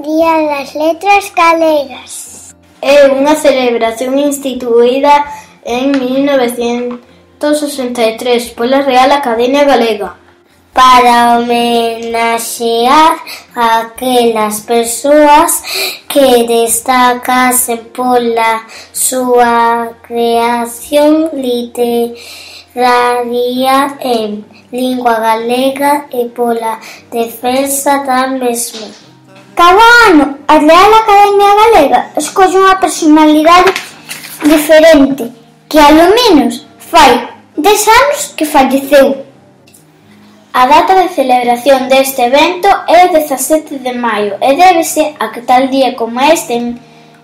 Día das Letras Galegas. É unha celebración instituída en 1963 pola Real Academia Galega para homenaxear a aquelas persoas que destacasen pola súa creación literaria en lingua galega e pola defensa da mesma. Cada ano, a Real Academia Galega escolle unha personalidade diferente que, alo menos, fai 10 anos que falleceu. A data de celebración deste evento é o 17 de maio e débese a que tal día como este,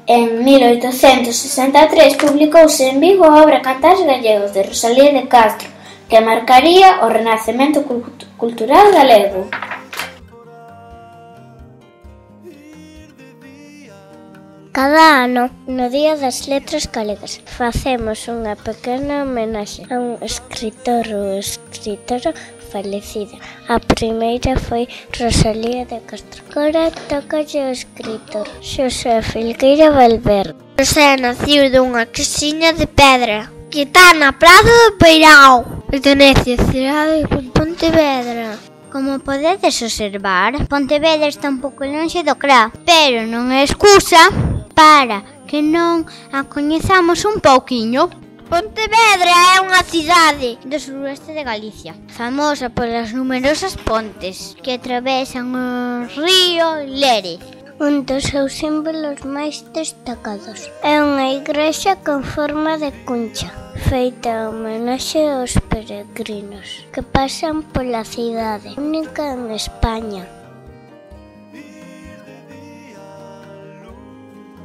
en 1863, publicouse en Vigo a obra Cantares Gallegos de Rosalía de Castro, que marcaría o renacemento cultural galego. Cada ano, no Día das Letras Galegas, facemos unha pequena homenaxe a un escritor ou escritora falecida. A primeira foi Rosalía de Castro. Agora tócalle o escritor Xosé Filgueira Valverde. Xosé naciu dunha casiña de pedra que está na Praza do Peirao. Pertenece á cidade de Pontevedra. Como podedes observar, Pontevedra está un pouco lonxe do CRA, pero non é excusa para que non a coñezamos un pouquiño. Pontevedra é unha cidade do suroeste de Galicia, famosa polas numerosas pontes que atravesan o río Lérez. Un dos seus símbolos máis destacados é unha igrexa con forma de cuncha, feita en homenaxe aos peregrinos que pasan pola cidade, única en España.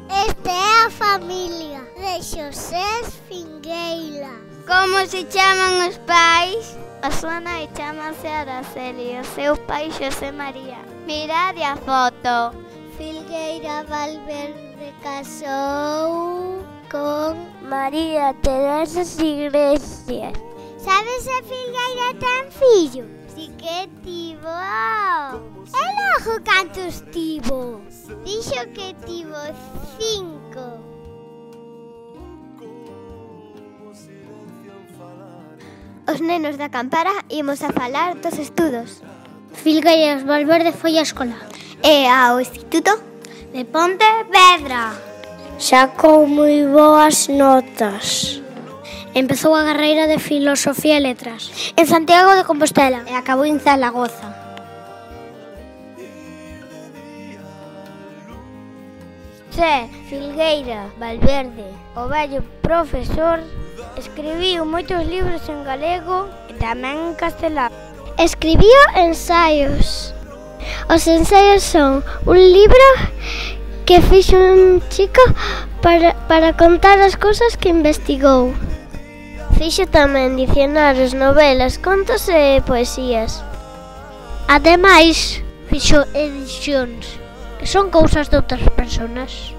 Esta é a familia de Xosé Fingueira. Como se chaman os pais? A súa nai chamase Araceli, o seu pai Xosé María. Mirade a foto. Filgueira Valverde casou con María Teresa Iglesias. Sabes se Filgueira ten fillo? Si que tivo. E logo cantos tivo? Dixo que tivo 5. Os nenos da Campara imos a falar dos estudos. Filgueira Valverde foi á escola E ao Instituto de Pontevedra. Sacou moi boas notas. Empezou a carreira de Filosofía e Letras en Santiago de Compostela e acabou en Zaragoza. Xosé Filgueira Valverde, o vello profesor, escribiu moitos libros en galego e tamén en castelán. Escribiu ensaios. Os ensaios son un libro que fixo un chico para contar as cousas que investigou. Fixo tamén dicionarios, novelas, contos e poesías. Ademais, fixo edicións, que son cousas de outras persoas.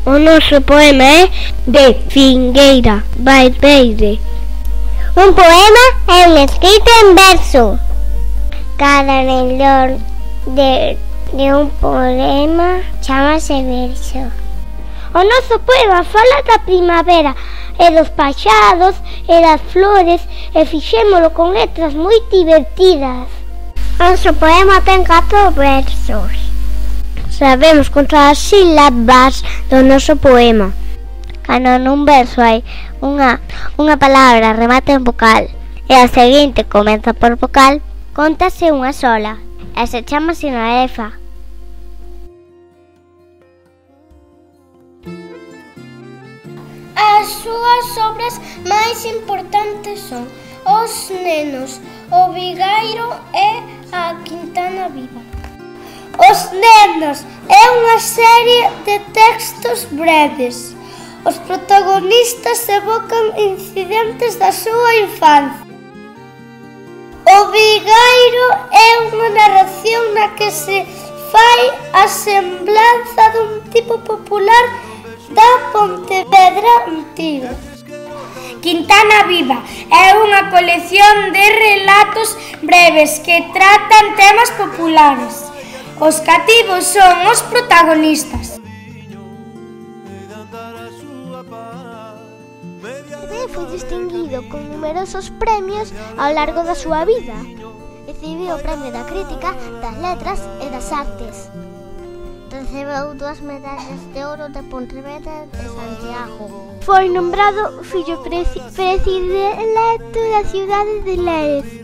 O noso poema é de Filgueira Valverde. Un poema é un escrito en verso. Cada renglón de un poema chamase verso. O noso poema fala da primavera e dos paxados e das flores e fixémolo con letras moi divertidas. O noso poema ten 4 versos. Sabemos contar as sílabas do noso poema. Cando nun verso hai unha palabra remata en vocal e a seguinte comeza por vocal, cóntase unha sola e se chama sinarefa. As súas obras máis importantes son Os nenos, O vigairo e A Quintana Viva. Os nenos é unha serie de textos breves. Os protagonistas evocan incidentes da súa infancia. O vigairo é unha narración na que se fai a semblanza dun tipo popular da Pontevedra antiga. Quintana Viva é unha colección de relatos breves que tratan temas populares. Os cativos son os protagonistas. Foi distinguido con numerosos premios ao largo da súa vida. Recibiu o Premio da Crítica, das Letras e das Artes. Recebeu 2 medallas de ouro de Pontevedra e Santiago. Foi nombrado fillo predilecto da cidade de Lérez.